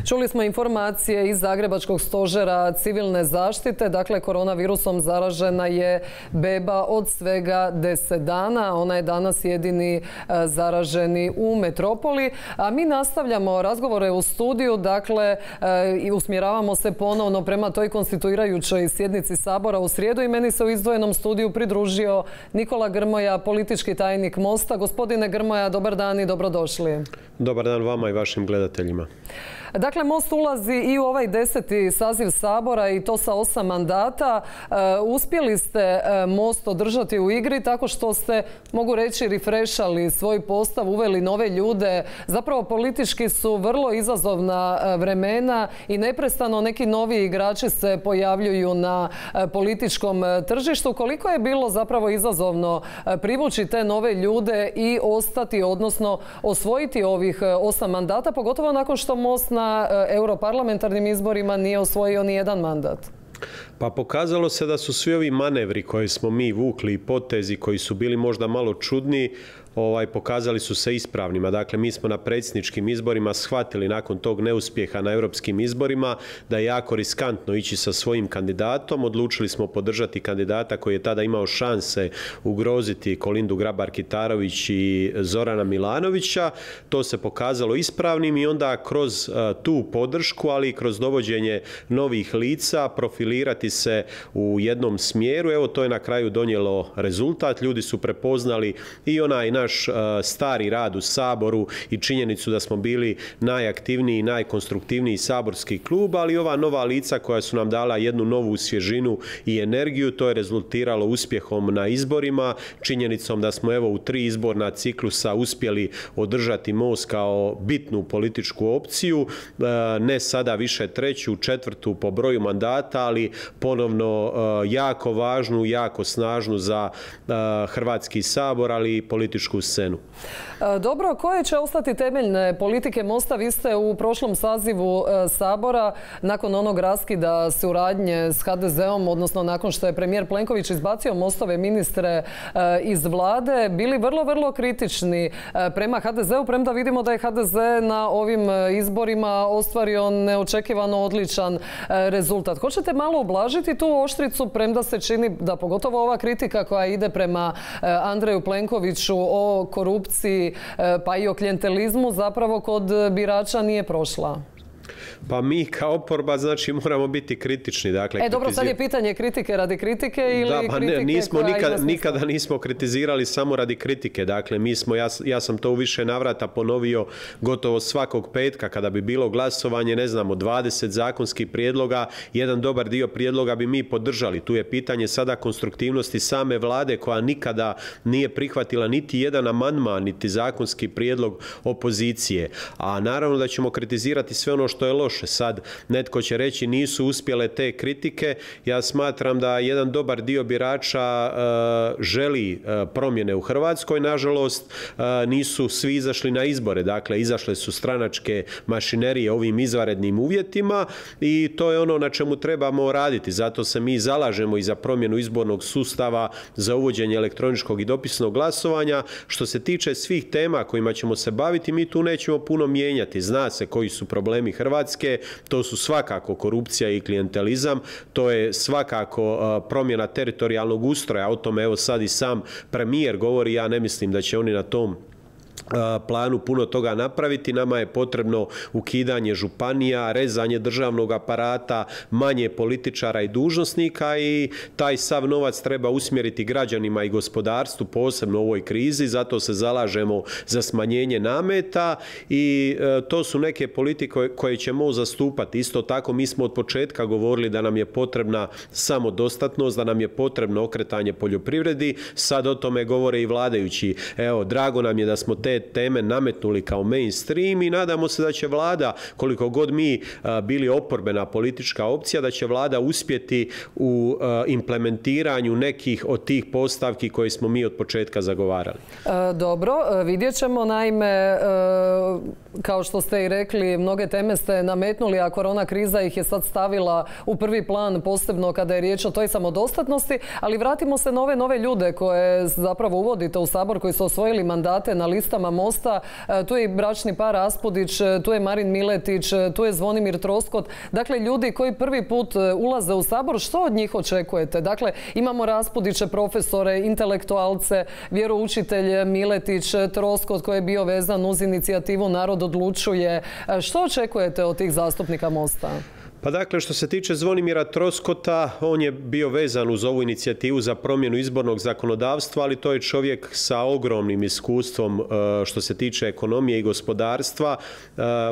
Čuli smo informacije iz Zagrebačkog stožera civilne zaštite. Dakle, koronavirusom zaražena je beba od svega 10 dana. Ona je danas jedini zaraženi u metropoli. A mi nastavljamo razgovore u studiju. Dakle, i usmjeravamo se ponovno prema toj konstituirajućoj sjednici Sabora u srijedu i meni se u izdvojenom studiju pridružio Nikola Grmoja, politički tajnik Mosta. Gospodine Grmoja, dobar dan i dobrodošli. Dobar dan vama i vašim gledateljima. Dakle, Most ulazi i u ovaj 10. saziv Sabora i to sa 8 mandata. Uspjeli ste Most održati u igri tako što ste, mogu reći, refrešali svoj postav, uveli nove ljude. Zapravo politički su vrlo izazovna vremena i neprestano neki novi igrači se pojavljuju na političkom tržištu. Koliko je bilo zapravo izazovno privući te nove ljude i ostati, odnosno osvojiti ovih 8 mandata, pogotovo nakon što Most na europarlamentarnim izborima nije osvojio ni jedan mandat? Pa pokazalo se da su svi ovi manevri koje smo mi vukli i potezi koji su bili možda malo čudni, pokazali su se ispravnima. Dakle, mi smo na predsjedničkim izborima shvatili nakon tog neuspjeha na europskim izborima da je jako riskantno ići sa svojim kandidatom. Odlučili smo podržati kandidata koji je tada imao šanse ugroziti Kolindu Grabar-Kitarović i Zorana Milanovića. To se pokazalo ispravnim i onda kroz tu podršku, ali i kroz dovođenje novih lica, profilirati se u jednom smjeru. Evo, to je na kraju donijelo rezultat. Ljudi su prepoznali i onaj naš stari rad u Saboru i činjenicu da smo bili najaktivniji i najkonstruktivniji saborski klub, ali ova nova lica koja su nam dala jednu novu svježinu i energiju, to je rezultiralo uspjehom na izborima, činjenicom da smo evo u 3 izborna ciklusa uspjeli održati Most kao bitnu političku opciju, ne sada više 3., 4. po broju mandata, ali ponovno jako važnu, jako snažnu za Hrvatski sabor, ali i političku scenu. Dobro, koje će ostati temeljne politike Mosta? Vi ste u prošlom sazivu Sabora, nakon onog raskida suradnje s HDZ-om, odnosno nakon što je premijer Plenković izbacio Mostove ministre iz vlade, bili vrlo kritični prema HDZ-u, premda vidimo da je HDZ na ovim izborima ostvario neočekivano odličan rezultat. Hoćete malo ublažiti tu oštricu, premda se čini da pogotovo ova kritika koja ide prema Andreju Plenkoviću o korupciji pa i o klijentelizmu zapravo kod birača nije prošla? Pa mi kao oporba znači moramo biti kritični. Dakle, dobro, sad je pitanje kritike radi kritike ili nikada nismo kritizirali samo radi kritike. Dakle, ja sam to u više navrata ponovio gotovo svakog petka kada bi bilo glasovanje, ne znam, od 20 zakonskih prijedloga, jedan dobar dio prijedloga bi mi podržali. Tu je pitanje sada konstruktivnosti same vlade koja nikada nije prihvatila niti jedan amandman, niti zakonski prijedlog opozicije. A naravno da ćemo kritizirati sve ono što je loše. Sad netko će reći nisu uspjele te kritike. Ja smatram da jedan dobar dio birača želi promjene u Hrvatskoj. Nažalost, nisu svi izašli na izbore. Dakle, izašle su stranačke mašinerije ovim izvanrednim uvjetima i to je ono na čemu trebamo raditi. Zato se mi zalažemo i za promjenu izbornog sustava, za uvođenje elektroničkog i dopisnog glasovanja. Što se tiče svih tema kojima ćemo se baviti, mi tu nećemo puno mijenjati. Zna se koji su problemi Hrvatske. To su svakako korupcija i klijentelizam, to je svakako promjena teritorijalnog ustroja, o tome evo sad i sam premijer govori, ja ne mislim da će oni na tom planu puno toga napraviti. Nama je potrebno ukidanje županija, rezanje državnog aparata, manje političara i dužnosnika i taj sav novac treba usmjeriti građanima i gospodarstvu, posebno u ovoj krizi, zato se zalažemo za smanjenje nameta i to su neke politike koje ćemo zastupati. Isto tako mi smo od početka govorili da nam je potrebna samodostatnost, da nam je potrebno okretanje poljoprivredi, sad o tome govore i vladajući. Evo, drago nam je da smo te teme nametnuli kao mainstream i nadamo se da će vlada, koliko god mi bili oporbena politička opcija, da će vlada uspjeti u implementiranju nekih od tih postavki koje smo mi od početka zagovarali. Dobro, vidjet ćemo. Naime, kao što ste i rekli, mnoge teme ste nametnuli, a korona kriza ih je sad stavila u prvi plan, posebno kada je riječ o toj samodostatnosti, ali vratimo se na ove nove ljude koje zapravo uvodite u Sabor, koji su osvojili mandate na listama listama Mosta. Tu je i bračni par Raspudić, tu je Marin Miletić, tu je Zvonimir Troskot. Dakle, ljudi koji prvi put ulaze u Sabor, što od njih očekujete? Dakle, imamo Raspudiće, profesore, intelektualce, vjeroučitelj Miletić, Troskot koji je bio vezan uz inicijativu Narod odlučuje. Što očekujete od tih zastupnika Mosta? Pa dakle, što se tiče Zvonimira Troskota, on je bio vezan uz ovu inicijativu za promjenu izbornog zakonodavstva, ali to je čovjek sa ogromnim iskustvom što se tiče ekonomije i gospodarstva.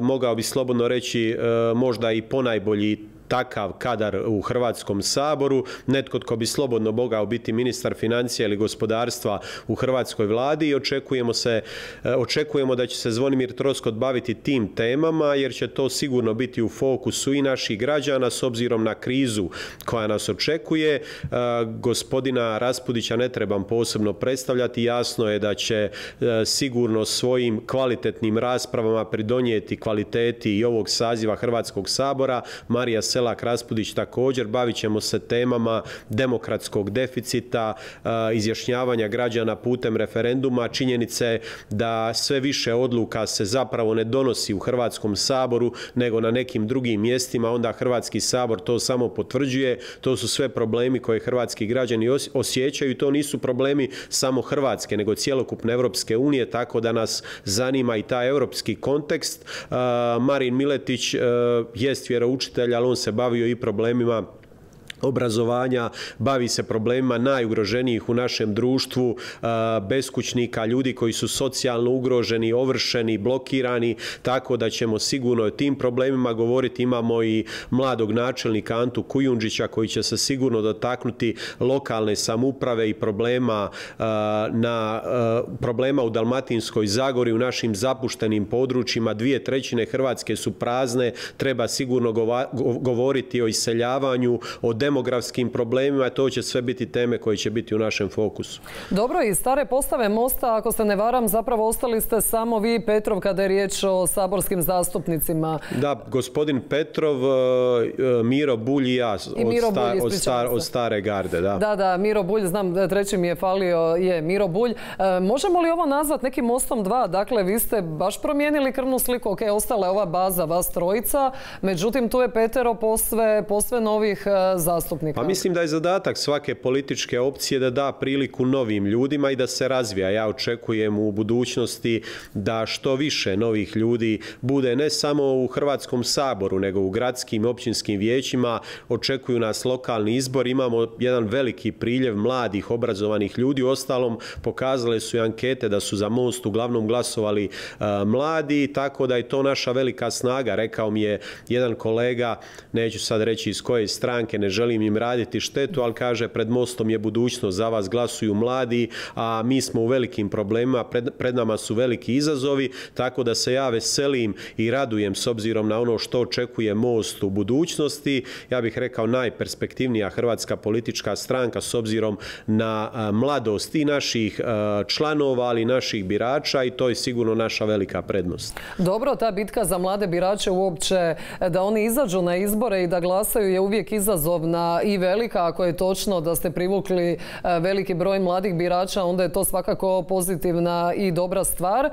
Mogao bi slobodno reći možda i ponajbolji takav kadar u Hrvatskom saboru, netko tko bi slobodno mogao biti ministar financija ili gospodarstva u hrvatskoj vladi i očekujemo da će se Zvonimir Troskot baviti tim temama jer će to sigurno biti u fokusu i naših građana s obzirom na krizu koja nas očekuje. Gospodina Raspudića ne trebam posebno predstavljati, jasno je da će sigurno svojim kvalitetnim raspravama pridonijeti kvaliteti i ovog saziva Hrvatskog sabora. Marija Selak Raspudić također. Bavit ćemo se temama demokratskog deficita, izjašnjavanja građana putem referenduma, činjenice da sve više odluka se zapravo ne donosi u Hrvatskom saboru nego na nekim drugim mjestima, onda Hrvatski sabor to samo potvrđuje. To su sve problemi koje hrvatski građani osjećaju i to nisu problemi samo Hrvatske nego cjelokupne Europske unije, tako da nas zanima i taj europski kontekst. Marin Miletić jest vjeroučitelj, ali on se bavio i problemima obrazovanja, bavi se problemima najugroženijih u našem društvu, beskućnika, ljudi koji su socijalno ugroženi, ovršeni, blokirani, tako da ćemo sigurno o tim problemima govoriti. Imamo i mladog načelnika Antu Kujundžića koji će se sigurno dotaknuti lokalne samouprave i problema u Dalmatinskoj Zagori, u našim zapuštenim područjima. 2/3 Hrvatske su prazne, treba sigurno govoriti o iseljavanju, o demografskim problemima, to će sve biti teme koje će biti u našem fokusu. Dobro, iz stare postave Mosta, ako se ne varam, zapravo ostali ste samo vi i Petrov kada je riječ o saborskim zastupnicima. Da, gospodin Petrov, Miro Bulj i ja od stare garde. Da, Miro Bulj, znam, treći mi je falio, je Miro Bulj. Možemo li ovo nazvati nekim Mostom 2? Dakle, vi ste baš promijenili krvnu sliku, ok, ostala je ova baza, vas trojica, međutim tu je Petero posve novih zastupnika. Pa mislim da je zadatak svake političke opcije da da priliku novim ljudima i da se razvija. Ja očekujem u budućnosti da što više novih ljudi bude ne samo u Hrvatskom saboru, nego u gradskim i općinskim vijećima. Očekuju nas lokalni izbor. Imamo jedan veliki priljev mladih, obrazovanih ljudi. Uostalom, pokazale su i ankete da su za Most uglavnom glasovali mladi, tako da je to naša velika snaga. Rekao mi je jedan kolega, neću sad reći iz koje stranke, ne želim im raditi štetu, ali kaže pred Mostom je budućnost, za vas glasuju mladi, a mi smo u velikim problemima, pred nama su veliki izazovi, tako da se ja veselim i radujem s obzirom na ono što očekuje Most u budućnosti. Ja bih rekao najperspektivnija hrvatska politička stranka s obzirom na mladost i naših članova, ali i naših birača i to je sigurno naša velika prednost. Dobro, ta bitka za mlade birače uopće, da oni izađu na izbore i da glasaju je uvijek izazovna i velika. Ako je točno da ste privukli veliki broj mladih birača, onda je to svakako pozitivna i dobra stvar.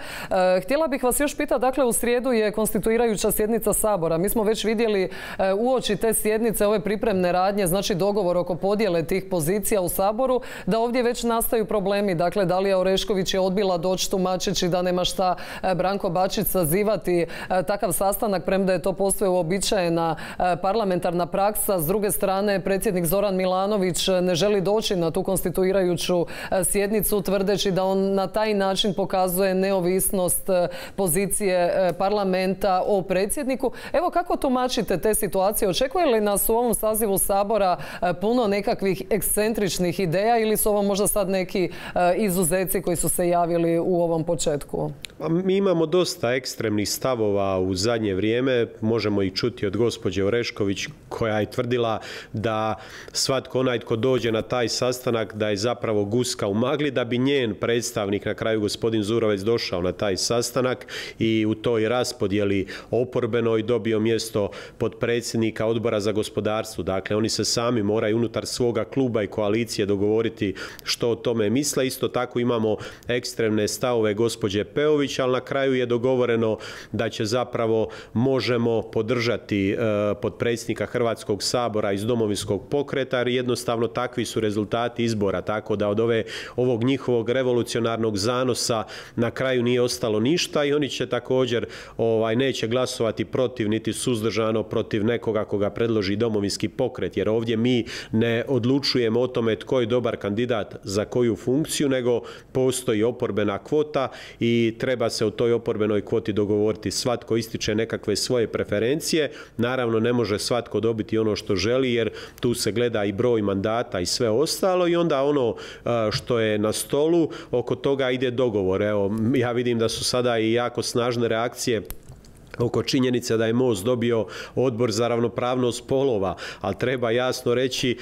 Htjela bih vas još pitati, dakle u srijedu je konstituirajuća sjednica Sabora. Mi smo već vidjeli uoči te sjednice ove pripremne radnje, znači dogovor oko podjele tih pozicija u Saboru, da ovdje već nastaju problemi. Dakle, Dalija Orešković je odbila doći tumačeći da nema šta Branko Bačić sazivati takav sastanak, premda je to posve uobičajena parlamentarna praksa. S druge strane, predsjednik Zoran Milanović ne želi doći na tu konstituirajuću sjednicu, tvrdeći da on na taj način pokazuje neovisnost pozicije parlamenta o predsjedniku. Evo, kako tumačite te situacije? Očekuje li nas u ovom sazivu Sabora puno nekakvih ekscentričnih ideja ili su ovo možda sad neki izuzeci koji su se javili u ovom početku? Mi imamo dosta ekstremnih stavova u zadnje vrijeme. Možemo ih čuti od gospođe Orešković koja je tvrdila da svatko onaj tko dođe na taj sastanak da je zapravo guska u magli, da bi njen predstavnik, na kraju gospodin Zurovec, došao na taj sastanak i u toj raspodjeli oporbenoj dobio mjesto potpredsjednika Odbora za gospodarstvo. Dakle, oni se sami moraju unutar svoga kluba i koalicije dogovoriti što o tome misle. Isto tako imamo ekstremne stavove gospođe Peović, ali na kraju je dogovoreno da će zapravo Možemo podržati potpredsjednika Hrvatskog sabora iz Domovinskog pokreta, jer jednostavno takvi su rezultati izbora, tako da od ovog njihovog revolucionarnog zanosa na kraju nije ostalo ništa i oni će također neće glasovati protiv niti suzdržano protiv nekoga koga predloži Domovinski pokret, jer ovdje mi ne odlučujemo o tome tko je dobar kandidat za koju funkciju, nego postoji oporbena kvota i treba se o toj oporbenoj kvoti dogovoriti. Svatko ističe nekakve svoje preferencije, naravno ne može svatko dobiti ono što želi, jer tu se gleda i broj mandata i sve ostalo i onda ono što je na stolu, oko toga ide dogovor. Evo, ja vidim da su sada i jako snažne reakcije oko činjenice da je MOST dobio Odbor za ravnopravnost spolova, ali treba jasno reći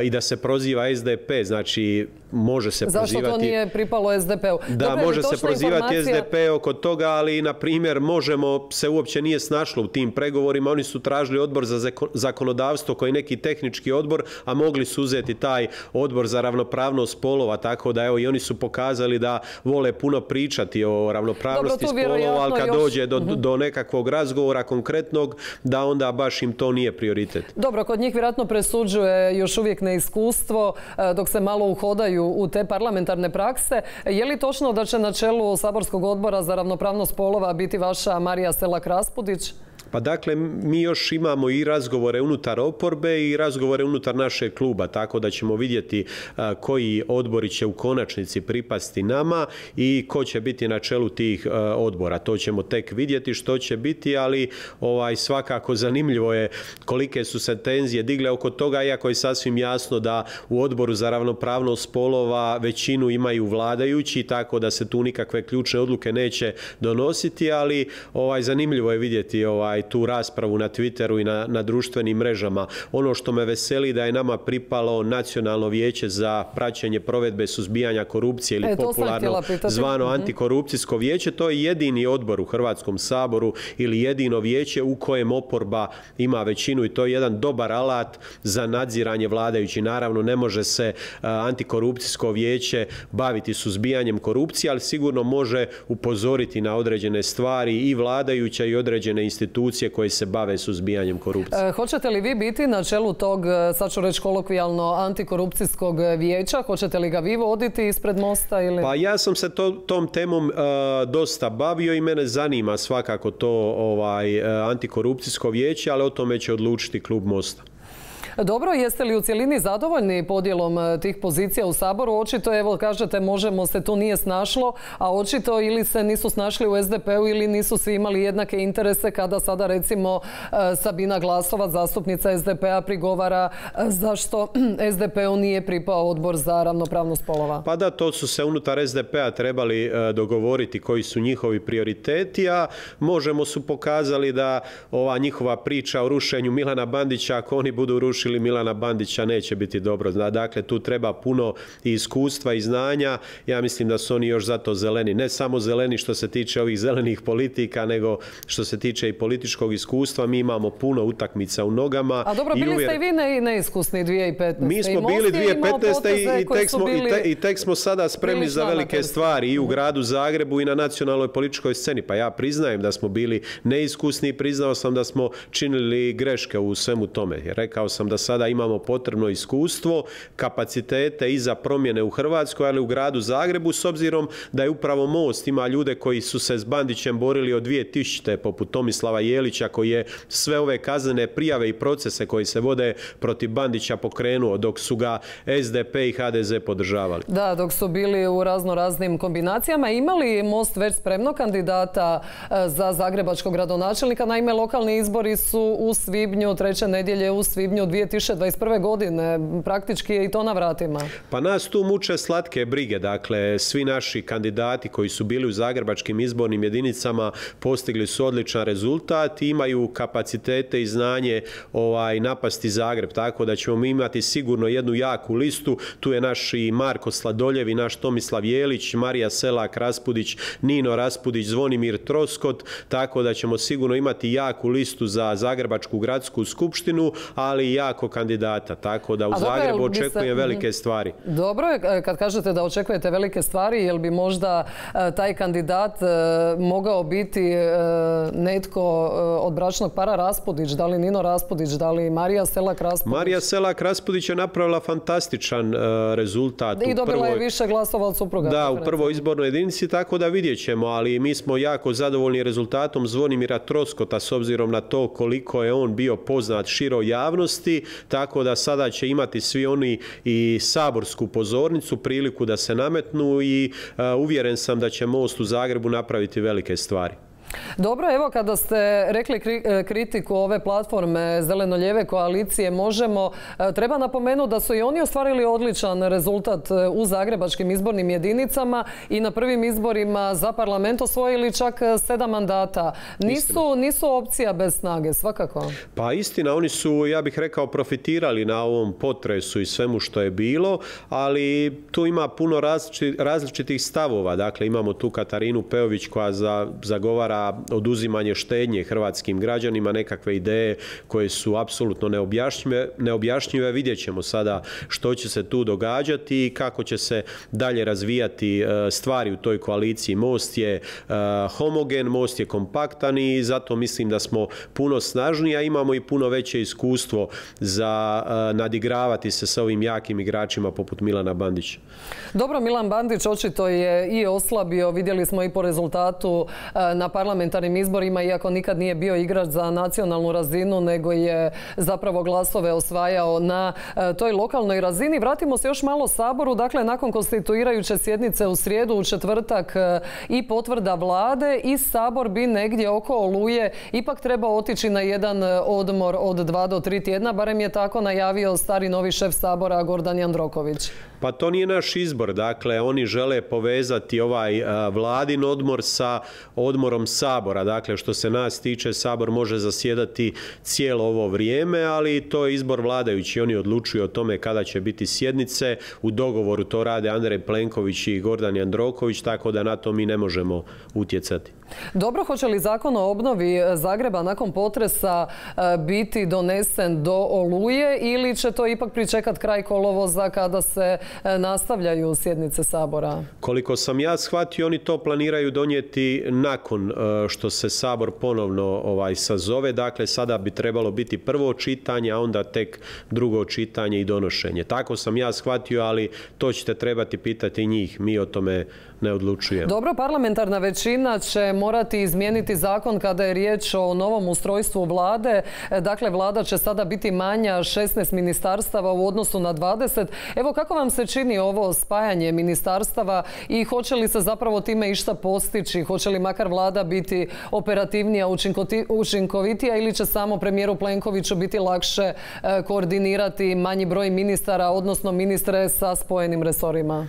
i da se proziva SDP, znači može se prozivati... Zašto to nije pripalo SDP-u? Da, može se prozivati SDP oko toga, ali na primjer Možemo se uopće nije snašlo u tim pregovorima, oni su tražili Odbor za zakonodavstvo koji je neki tehnički odbor, a mogli su uzeti taj Odbor za ravnopravnost spolova, tako da evo i oni su pokazali da vole puno pričati o ravnopravnosti spolova, ali kad dođe do nekakvog razgovora konkretnog, da onda baš im to nije prioritet. Dobro, kod njih vjerojatno presuđuje još uvijek neiskustvo dok se malo uhodaju u te parlamentarne prakse. Je li točno da će na čelu Saborskog odbora za ravnopravnost spolova biti vaša Marija Selak-Raspudić? Pa dakle, mi još imamo i razgovore unutar oporbe i razgovore unutar našeg kluba, tako da ćemo vidjeti koji odbori će u konačnici pripasti nama i ko će biti na čelu tih odbora. To ćemo tek vidjeti što će biti, ali svakako zanimljivo je kolike su se tenzije digle oko toga, iako je sasvim jasno da u Odboru za ravnopravnost spolova većinu imaju vladajući, tako da se tu nikakve ključne odluke neće donositi, ali zanimljivo je vidjeti tu raspravu na Twitteru i na društvenim mrežama. Ono što me veseli da je nama pripalo Nacionalno vijeće za praćenje provedbe suzbijanja korupcije ili popularno zvano Antikorupcijsko vijeće. To je jedini odbor u Hrvatskom saboru ili jedino vijeće u kojem oporba ima većinu i to je jedan dobar alat za nadziranje vladajući. Naravno, ne može se Antikorupcijsko vijeće baviti suzbijanjem korupcije, ali sigurno može upozoriti na određene stvari i vladajuća i određene institucije koje se bave suzbijanjem korupcije. Hoćete li vi biti na čelu tog, sad ću reći kolokvijalno, Antikorupcijskog vijeća? Hoćete li ga vi voditi ispred Mosta? Ili? Pa ja sam se tom temom dosta bavio i mene zanima svakako to Antikorupcijsko vijeće, ali o tome će odlučiti klub Mosta. Dobro, jeste li u cjelini zadovoljni podjelom tih pozicija u Saboru? Očito, evo kažete, Možemo se tu nije snašlo, a očito ili se nisu snašli u SDP-u ili nisu svi imali jednake interese kada sada recimo Sabina Glasovac, zastupnica SDP-a, prigovara zašto SDP-u nije pripao Odbor za ravnopravnost spolova. Pa da, to su se unutar SDP-a trebali dogovoriti koji su njihovi prioriteti, a Možemo su pokazali da ova njihova priča o rušenju Milana Bandića, ako oni budu rušili Milana Bandića, neće biti dobro. Dakle, tu treba puno i iskustva i znanja. Ja mislim da su oni još zato zeleni. Ne samo zeleni što se tiče ovih zelenih politika, nego što se tiče i političkog iskustva. Mi imamo puno utakmica u nogama. A dobro, bili ste i vi neiskusni 2015. Mi smo bili 2015. i tek smo sada spremni za velike stvari i u gradu Zagrebu i na nacionalnoj političkoj sceni. Pa ja priznajem da smo bili neiskusni i priznao sam da smo činili greške u svemu tome. Rekao sam da sada imamo potrebno iskustvo, kapacitete i za promjene u Hrvatskoj, ali u gradu Zagrebu, s obzirom da je upravo Most ima ljude koji su se s Bandićem borili od 2000. poput Tomislava Jelića, koji je sve ove kaznene prijave i procese koji se vode protiv Bandića pokrenuo, dok su ga SDP i HDZ podržavali. Da, dok su bili u raznim kombinacijama. Imali Most već spremno kandidata za zagrebačkog gradonačelnika? Naime, lokalni izbori su u svibnju, treće nedjelje u svibnju 2021. godine. Praktički je i to na vratima. Pa nas tu muče slatke brige. Dakle, svi naši kandidati koji su bili u zagrebačkim izbornim jedinicama postigli su odličan rezultat i imaju kapacitete i znanje napasti Zagreb. Tako da ćemo mi imati sigurno jednu jaku listu. Tu je naš i Marko Sladoljev i naš Tomislav Jelić, Marija Selak-Raspudić, Nino Raspudić, Zvonimir Troskot. Tako da ćemo sigurno imati jaku listu za Zagrebačku gradsku skupštinu, ali i jako kandidata. Tako da u Zagrebu očekujem velike stvari. Dobro je kad kažete da očekujete velike stvari, jel bi možda taj kandidat mogao biti netko od bračnog para Raspudić, da li Nino Raspudić, da li Marija Selak-Raspudić? Marija Selak-Raspudić je napravila fantastičan rezultat. I dobila je više glasova od supruga. Da, u prvoj izbornoj jedinici, tako da vidjet ćemo, ali mi smo jako zadovoljni rezultatom Zvonimira Troskota s obzirom na to koliko je on bio poznat široj javnosti, tako da sada će imati svi oni i saborsku pozornicu, priliku da se nametnu i uvjeren sam da će Most u Zagrebu napraviti velike stvari. Dobro, evo kada ste rekli kritiku ove platforme Zeleno-lijeve koalicije Možemo, treba napomenuti da su i oni ostvarili odličan rezultat u zagrebačkim izbornim jedinicama i na prvim izborima za parlament osvojili čak 7 mandata. Nisu opcija bez snage, svakako. Pa istina, oni su, ja bih rekao, profitirali na ovom potresu i svemu što je bilo, ali tu ima puno različitih stavova. Dakle, imamo tu Katarinu Peović koja zagovara oduzimanje štednje hrvatskim građanima, nekakve ideje koje su apsolutno neobjašnjive. Vidjet ćemo sada što će se tu događati i kako će se dalje razvijati stvari u toj koaliciji. Most je homogen, Most je kompaktan i zato mislim da smo puno snažniji, a imamo i puno veće iskustvo za nadigravati se sa ovim jakim igračima poput Milana Bandića. Dobro, Milan Bandić očito je i oslabio, vidjeli smo i po rezultatu na parlamentarnim izborima, iako nikad nije bio igrač za nacionalnu razinu, nego je zapravo glasove osvajao na toj lokalnoj razini. Vratimo se još malo Saboru. Dakle, nakon konstituirajuće sjednice u srijedu, u četvrtak i potvrda vlade i Sabor bi negdje oko Oluje ipak trebao otići na jedan odmor od 2 do 3 tjedna. Barem je tako najavio stari novi šef Sabora Gordan Jandroković. Pa to nije naš izbor. Dakle, oni žele povezati ovaj vladin odmor sa odmorom Sabora. Dakle, što se nas tiče, Sabor može zasjedati cijelo ovo vrijeme, ali to je izbor vladajući. Oni odlučuju o tome kada će biti sjednice. U dogovoru to rade Andrej Plenković i Gordan Jandroković, tako da na to mi ne možemo utjecati. Dobro, hoće li zakon o obnovi Zagreba nakon potresa biti donesen do Oluje ili će to ipak pričekati kraj kolovoza kada se nastavljaju sjednice Sabora? Koliko sam ja shvatio, oni to planiraju donijeti nakon što se Sabor ponovno sazove. Dakle, sada bi trebalo biti prvo čitanje, a onda tek drugo čitanje i donošenje. Tako sam ja shvatio, ali to ćete trebati pitati njih. Mi o tome ne odlučujemo. Dobro, parlamentarna većina će morati izmijeniti zakon kada je riječ o novom ustrojstvu vlade. Dakle, vlada će sada biti manja 16 ministarstava u odnosu na 20. Evo, kako vam se čini ovo spajanje ministarstava i hoće li se zapravo time išta postići? Hoće li makar vlada biti operativnija, učinkovitija ili će samo premijeru Plenkoviću biti lakše koordinirati manji broj ministara, odnosno ministre sa spojenim resorima?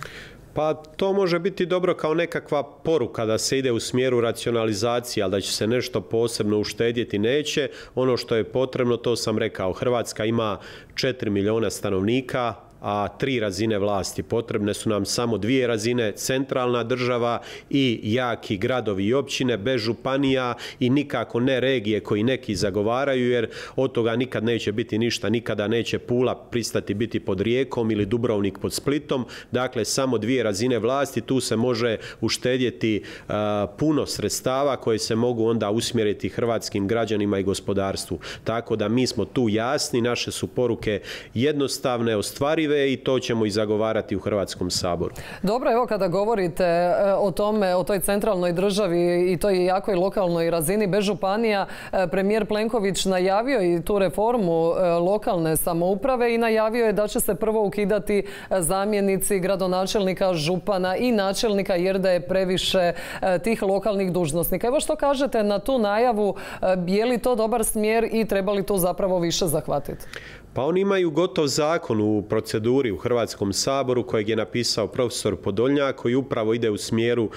Pa to može biti dobro kao nekakva poruka da se ide u smjeru racionalizacije, ali da će se nešto posebno uštedjeti neće. Ono što je potrebno, to sam rekao, Hrvatska ima 4 milijuna stanovnika, a 3 razine vlasti. Potrebne su nam samo 2 razine, centralna država i jaki gradovi i općine bez županija i nikako ne regije koji neki zagovaraju, jer od toga nikad neće biti ništa. Nikada neće Pula pristati biti pod Rijekom ili Dubrovnik pod Splitom. Dakle, samo 2 razine vlasti. Tu se može uštedjeti puno sredstava koje se mogu onda usmjeriti hrvatskim građanima i gospodarstvu. Tako da mi smo tu jasni, naše su poruke jednostavne, ostvarive i to ćemo i zagovarati u Hrvatskom saboru. Dobro, evo kada govorite o tome, o toj centralnoj državi i toj jakoj lokalnoj razini bez županija, premijer Plenković najavio i tu reformu lokalne samouprave i najavio je da će se prvo ukidati zamjenici gradonačelnika, župana i načelnika jer da je previše tih lokalnih dužnosnika. Evo što kažete na tu najavu, je li to dobar smjer i treba li to zapravo više zahvatiti? Pa oni imaju gotov zakon u proceduri u Hrvatskom saboru kojeg je napisao profesor Podolnjak, koji upravo ide u smjeru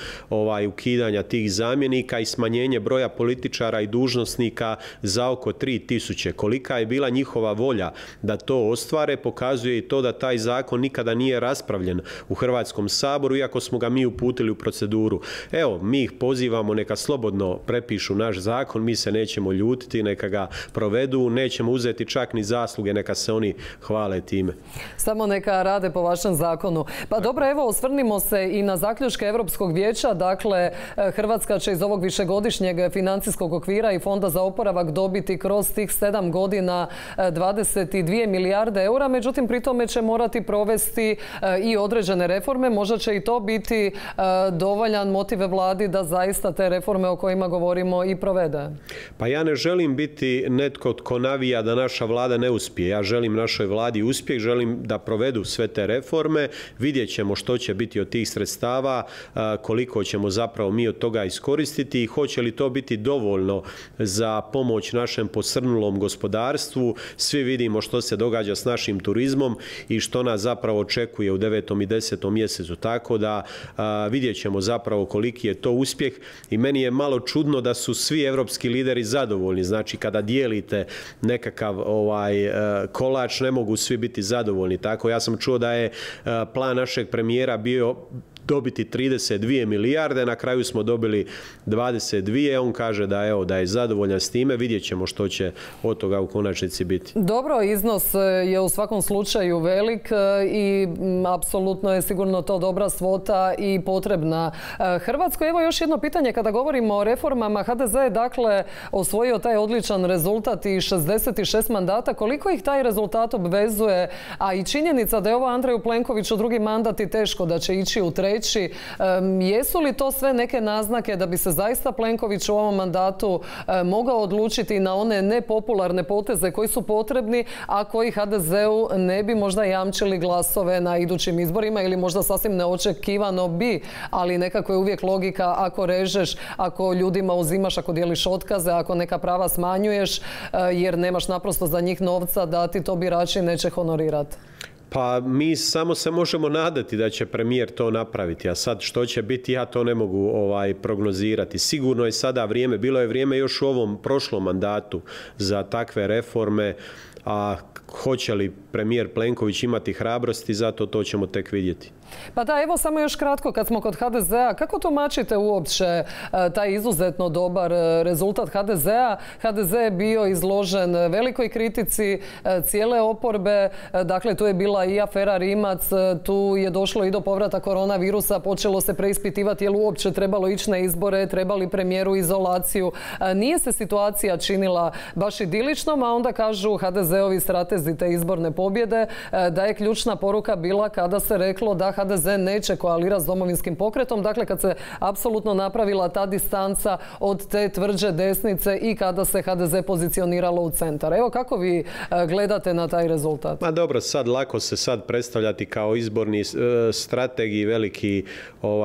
ukidanja tih zamjenika i smanjenje broja političara i dužnosnika za oko 3000. Kolika je bila njihova volja da to ostvare, pokazuje i to da taj zakon nikada nije raspravljen u Hrvatskom saboru, iako smo ga mi uputili u proceduru. Evo, mi ih pozivamo neka slobodno prepišu naš zakon, mi se nećemo ljutiti, neka ga provedu, nećemo uzeti čak ni zasluge, neka se oni hvale time. Samo neka rade po vašem zakonu. Pa dobro, evo, osvrnimo se i na zaključke Europskog vijeća. Dakle, Hrvatska će iz ovog višegodišnjeg financijskog okvira i Fonda za oporavak dobiti kroz tih 7 godina 22 milijarde eura. Međutim, pri tome će morati provesti i određene reforme. Možda će i to biti dovoljan motiv vladi da zaista te reforme o kojima govorimo i provede. Pa ja ne želim biti netko tko navija da naša vlada ne uspije. Ja želim našoj vladi uspjeh, želim da provedu sve te reforme, vidjet ćemo što će biti od tih sredstava, koliko ćemo zapravo mi od toga iskoristiti i hoće li to biti dovoljno za pomoć našem posrnulom gospodarstvu. Svi vidimo što se događa s našim turizmom i što nas zapravo očekuje u 9. i 10. mjesecu. Tako da vidjet ćemo zapravo koliki je to uspjeh i meni je malo čudno da su svi europski lideri zadovoljni. Znači, kada dijelite nekakav kolač, ne mogu svi biti zadovoljni. Tako, ja sam čuo da je plan našeg premijera bio dobiti 32 milijarde, na kraju smo dobili 22, on kaže da je zadovoljan s time, vidjet ćemo što će od toga u konačnici biti. Dobro, iznos je u svakom slučaju velik i apsolutno je sigurno to dobra svota i potrebna Hrvatskoj. Evo još jedno pitanje, kada govorimo o reformama, HDZ je dakle osvojio taj odličan rezultat i 66 mandata. Koliko ih taj rezultat obvezuje, a i činjenica da je ovo Andreju Plenkoviću drugi mandat i teško da će ići u treći. Jesu li to sve neke naznake da bi se zaista Plenković u ovom mandatu mogao odlučiti na one nepopularne poteze koji su potrebni, a koji HDZ-u ne bi možda jamčili glasove na idućim izborima ili možda sasvim neočekivano bi, ali nekako je uvijek logika ako režeš, ako ljudima uzimaš, ako dijeliš otkaze, ako neka prava smanjuješ jer nemaš naprosto za njih novca da ti to birači neće honorirati. Pa mi samo se možemo nadati da će premijer to napraviti, a sad što će biti ja to ne mogu prognozirati. Sigurno je sada vrijeme, bilo je vrijeme još u ovom prošlom mandatu za takve reforme, a hoće li premijer Plenković imati hrabrosti, zato to ćemo tek vidjeti. Pa da, evo samo još kratko kad smo kod HDZ-a, kako tumačite uopće taj izuzetno dobar rezultat HDZ-a? HDZ je bio izložen velikoj kritici cijele oporbe, dakle tu je bila i afera Rimac, tu je došlo i do povrata koronavirusa, počelo se preispitivati je li uopće trebalo ići na izbore, trebali premijeru izolaciju. Nije se situacija činila baš idiličnom, a onda kažu HDZ-ovi stratezi te izborne pobjede da je ključna poruka bila kada se reklo da HDZ neće koalirati s Domovinskim pokretom, dakle kad se apsolutno napravila ta distanca od te tvrđe desnice i kada se HDZ pozicioniralo u centar. Evo kako vi gledate na taj rezultat? Ma dobro, sad lako se sad predstavljati kao izborni strategi, veliki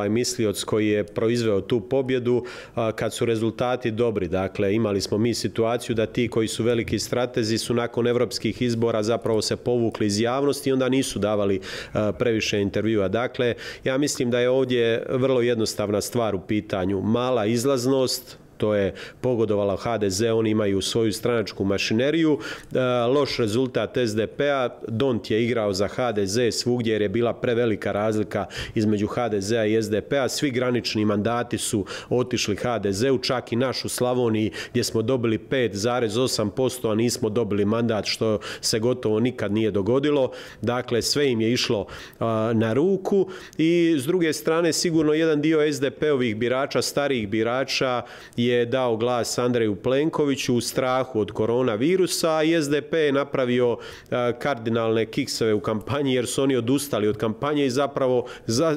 mislioc koji je proizveo tu pobjedu kad su rezultati dobri. Dakle, imali smo mi situaciju da ti koji su veliki stratezi su nakon europskih izbora zapravo se povukli iz javnosti i onda nisu davali previše intervjua. Dakle, ja mislim da je ovdje vrlo jednostavna stvar u pitanju. Mala izlaznost, to je pogodovala HDZ, oni imaju svoju stranačku mašineriju. Loš rezultat SDP-a, Dont je igrao za HDZ svugdje jer je bila prevelika razlika između HDZ-a i SDP-a. Svi granični mandati su otišli HDZ-u, čak i naš u Slavoniji gdje smo dobili 5,8%, a nismo dobili mandat, što se gotovo nikad nije dogodilo. Dakle, sve im je išlo na ruku i s druge strane sigurno jedan dio SDP-ovih birača, starijih birača je dao glas Andreju Plenkoviću u strahu od koronavirusa i SDP je napravio kardinalne kikseve u kampanji jer su oni odustali od kampanje i zapravo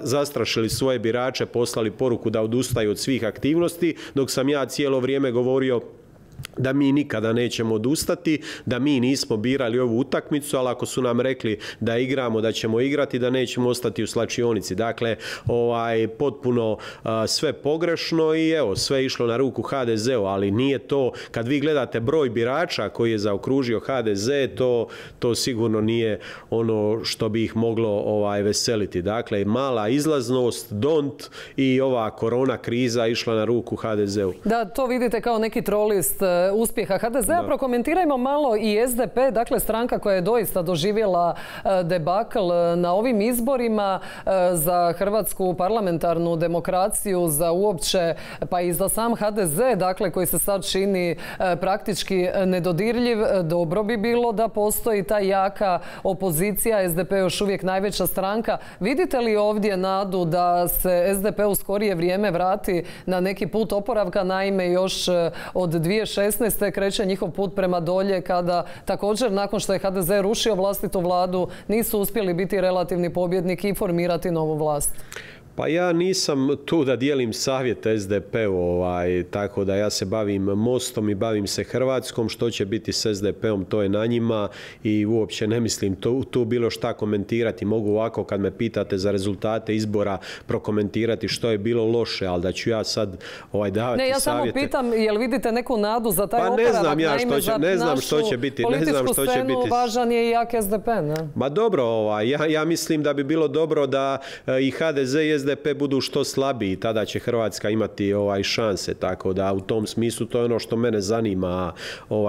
zastrašili svoje birače, poslali poruku da odustaju od svih aktivnosti, dok sam ja cijelo vrijeme govorio da mi nikada nećemo odustati, da mi nismo birali ovu utakmicu, ali ako su nam rekli da igramo, da ćemo igrati, da nećemo ostati u slačionici. Dakle, potpuno sve pogrešno i evo, sve išlo na ruku HDZ-u, ali nije to, kad vi gledate broj birača koji je zaokružio HDZ, to sigurno nije ono što bi ih moglo veseliti. Dakle, mala izlaznost, dont i ova korona kriza išla na ruku HDZ-u. Da, to vidite kao neki trolist uspjeha HDZ-a. Prokomentirajmo malo i SDP, dakle stranka koja je doista doživjela debakl na ovim izborima za hrvatsku parlamentarnu demokraciju, za uopće, pa i za sam HDZ, dakle koji se sad čini praktički nedodirljiv. Dobro bi bilo da postoji ta jaka opozicija, SDP je još uvijek najveća stranka. Vidite li ovdje nadu da se SDP u skorije vrijeme vrati na neki put oporavka? Naime, još od 2016. kreće njihov put prema dolje kada također nakon što je HDZ rušio vlastitu vladu nisu uspjeli biti relativni pobjednik i formirati novu vlast. Pa ja nisam tu da dijelim savjet SDP-u, tako da ja se bavim Mostom i bavim se Hrvatskom. Što će biti s SDP-om, to je na njima i uopće ne mislim tu bilo šta komentirati. Mogu ovako kad me pitate za rezultate izbora prokomentirati što je bilo loše, ali da ću ja sad davati savjete. Ne, ja samo pitam, jel vidite neku nadu za taj oporavak? Pa ne znam ja ne znam što će biti. Političku scenu važan je i jak SDP, ne? Ma dobro, ja mislim da bi bilo dobro da i HDZ i SDP budu što slabiji, tada će Hrvatska imati šanse, tako da u tom smislu to je ono što mene zanima.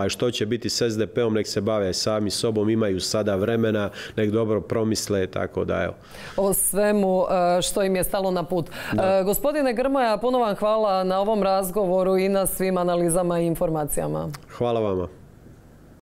Što će biti s SDP-om, nek se bave sami sobom, imaju sada vremena, nek dobro promisle, tako da evo. O svemu što im je stalo na put. Gospodine Grmoja, puno vam hvala na ovom razgovoru i na svim analizama i informacijama. Hvala vama.